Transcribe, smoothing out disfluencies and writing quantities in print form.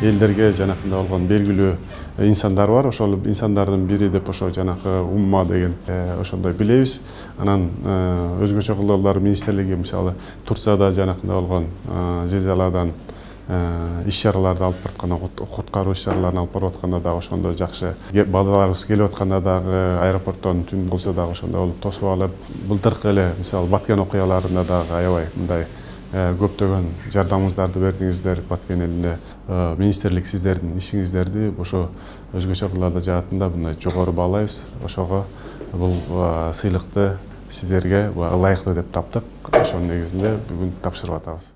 элдерге жанакындай болгон белгилүү инсандар бар. Ошол инсандардын бири деп ошо жанакы Умма деген ошондой билебиз. Анан өзгөчө кылдырлар министрлиги мисалы Турцияда жанакындай болгон зилзаладан иш-чараларды алып баратканда, куткаруу иш-чараларын алып барып атканда дагы ошондо жакшы. Балдарыбыз келип атканда дагы аэропорттон түн болсо дагы ошондой болуп тосуп алып, былтыркы эле мисалы Баткен окуяларында дагы аябай мындай көптөгөн жардамыңыздарды бердиңиздер. Баткен элине министрлик сиздердин ишиңиздерди ошо өзгөчө кылларда жаатында мындай жогору баалайбыз. Ошого бул сыйлыкты сиздерге ылайыктуу деп таптык. Ошонун негизинде бүгүн тапшырып атабыз.